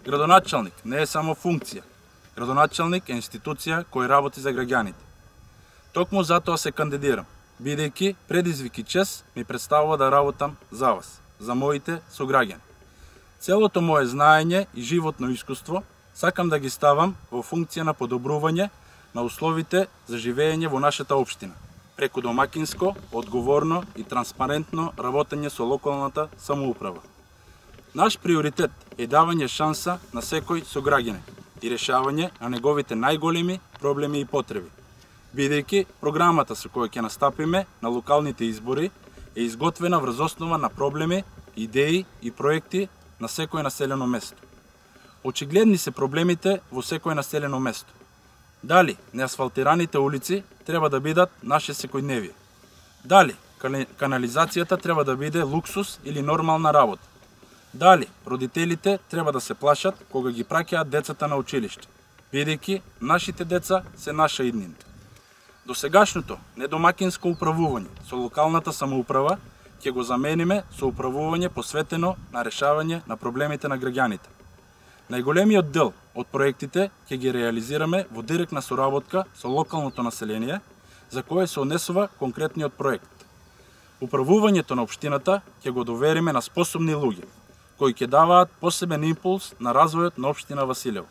Градоначалник не е само функција. Градоначалник е институција која работи за граѓаните. Токму затоа се кандидирам, бидејќи предизвик и чест ми представува да работам за вас, за моите сограѓани. Целото мое знаење и животно искуство сакам да ги ставам во функција на подобрување на условите за живење во нашата општина, преку домакинско, одговорно и транспарентно работење со локалната самоуправа. Наш приоритет е давање шанса на секој сограѓанин и решавање на неговите најголеми проблеми и потреби, бидејќи програмата со која ќе настапиме на локалните избори е изготвена врз основа на проблеми, идеи и проекти на секој населено место. Очигледни се проблемите во секој населено место. Дали неасфалтираните улици треба да бидат наше секојдневие? Дали канализацијата треба да биде луксус или нормална работа? Дали родителите треба да се плашат кога ги праќаат децата на училиште, бидејќи нашите деца се наша иднина? Досегашното недомакинско управување со локалната самоуправа ќе го замениме со управување посветено на решавање на проблемите на граѓаните. Најголемиот дел од проектите ќе ги реализираме во директна соработка со локалното население, за кое се однесува конкретниот проект. Управувањето на општината ќе го довериме на способни луѓе, кои ќе даваат посебен импулс на развојот на општина Василево.